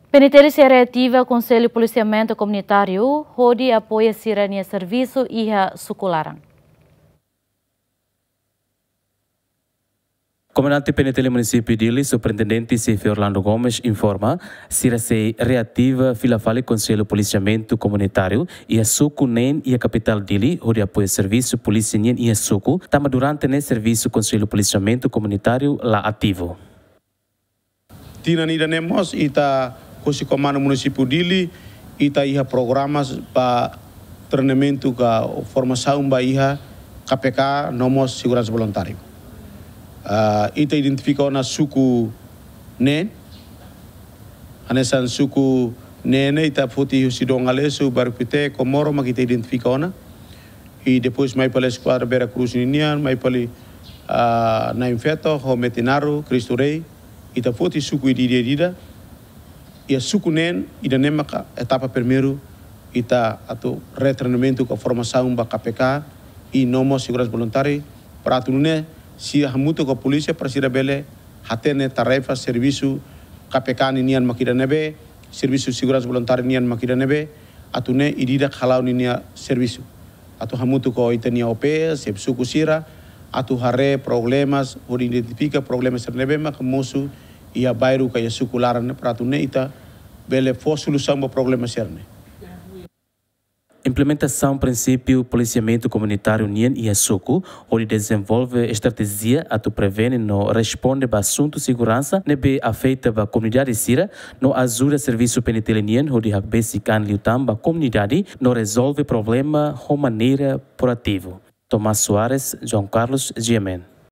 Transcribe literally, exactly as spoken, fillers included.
PNTL sei reativa Konsellu Polisiamentu Komunitáriu hodi apoia sira-nia servisu iha suku laran. Komandante PNTL Munisípiu Dili, Superintendente Xefe Orlando Gomes, informa, sira sei reativa fila fali Konsellu Polisiamentu Komunitáriu iha suku neen iha kapitál Dili, hodi apoia servisu polísia nian iha suku, tanba durante ne'e servisu Konsellu Polisiamentu Komunitáriu la ativu. Tinan ida-ne'e mós ita husi Komandu Munisípiu Dili, ita iha programas ba treinamentu ka formasaun ba iha K P K no mós seguransa voluntáriu. Ah, ita identifika ona suku neen, hanesan suku neen ne'e ita foti husi Dom Aleixo, Bairru Pité, Comoro, mak ita identifika ona. I depois mai fali Eskuadra Vera Cruz ninian, mai fali, ah, Na'in Feto, ho Metinaro, Cristo Rei, ita foti suku ida-ida. Iha suku neen, ida-ne'e maka etapa primeiru, ita atu retreinamentu ka formasaun ba K P K, i no mós seguransa voluntáriu, para atu nune'e, sira hamutuk ho polísia, para sira bele hatene tarefa servisu K P K ninian mak ida ne'ebé, servisu seguransa voluntáriu nian mak ida ne'ebé, atu nune'e ida-idak hala'o ninia servisu. Atu hamutuk ho ita-nia O P, xefe suku sira, atu haree problemas, hodi identifika problemas sira ne'ebé maka mosu iha bairru ka iha suku laran ne'e, para atu nune'e ita bele fó solusaun ba problema sira-ne'e. Implementasaun prinsípiu polisiamentu komunitáriu nian iha suku, hodi dezenvolve estratéjia atu prevene no responde ba asuntu seguransa ne'ebé afeta ba komunidade sira, no ajuda servisu PNTL nian hodi hakbesik an liután ba komunidade no rezolve problema ho maneira proativu. Tomás Soares, João Carlos, G M N.